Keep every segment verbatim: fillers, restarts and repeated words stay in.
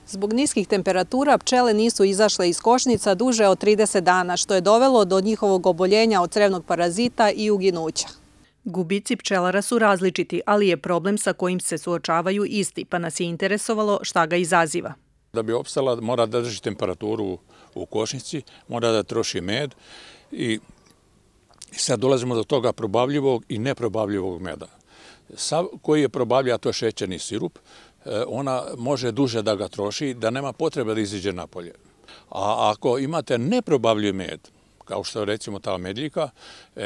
Zbog niskih temperatura pčele nisu izašle iz košnica duže od trideset dana, što je dovelo do njihovog oboljenja od crevnog parazita i uginuća. Gubici pčelara su različiti, ali je problem sa kojim se suočavaju isti, pa nas je interesovalo šta ga izaziva. Da bi opstala, mora da drži temperaturu u košnici, mora da troši med i sad dolazimo do toga probavljivog i neprobavljivog meda. Sav koji je probavljiv, a to je šećerni sirup, ona može duže da ga troši, da nema potrebe da iziđe napolje. A ako imate neprobavljiv med, kao što je recimo ta medljika,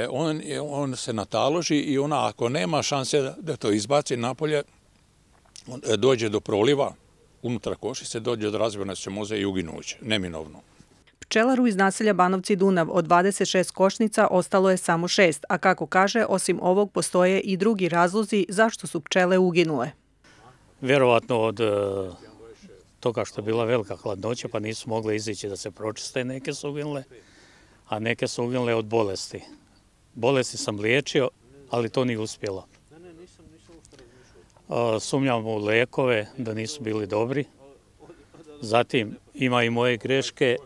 on, on se nataloži i ona ako nema šanse da to izbaci napolje, dođe do proliva, unutra košice, dođe do razvoja ćemoze i uginuće, neminovno. Pčelaru iz naselja Banovci Dunav od dvadeset šest košnica ostalo je samo šest, a kako kaže, osim ovog postoje i drugi razlozi zašto su pčele uginule. Vjerovatno od toga što je bila velika hladnoća pa nisu mogle izići da se pročiste, neke su uginule, a neke su uginule od bolesti. Bolesti sam liječio, ali to nije uspjelo. Sumnjam u lekove da nisu bili dobri. Zatim ima i moje greške.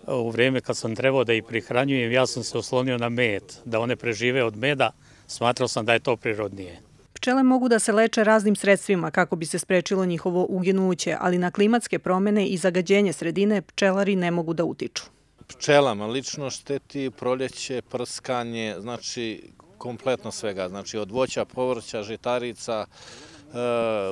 U vrijeme kad sam trebao da ih prihranjujem, ja sam se oslonio na med, da one prežive od meda, smatrao sam da je to prirodnije. Pčele mogu da se leče raznim sredstvima kako bi se sprečilo njihovo uginuće, ali na klimatske promjene i zagađenje sredine pčelari ne mogu da utiču. Pčelama lično šteti proljeće, prskanje, znači kompletno svega, znači od voća, povrća, žitarica,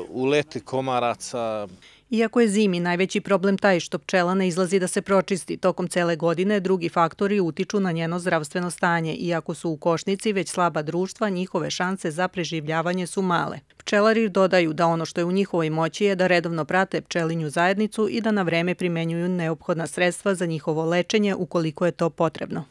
uleti komaraca. Iako je zimi najveći problem taj što pčela ne izlazi da se pročisti tokom cele godine, drugi faktori utiču na njeno zdravstveno stanje. Iako su u košnici već slaba društva, njihove šanse za preživljavanje su male. Pčelari dodaju da ono što je u njihovoj moći je da redovno prate pčelinju zajednicu i da na vreme primenjuju neophodna sredstva za njihovo lečenje ukoliko je to potrebno.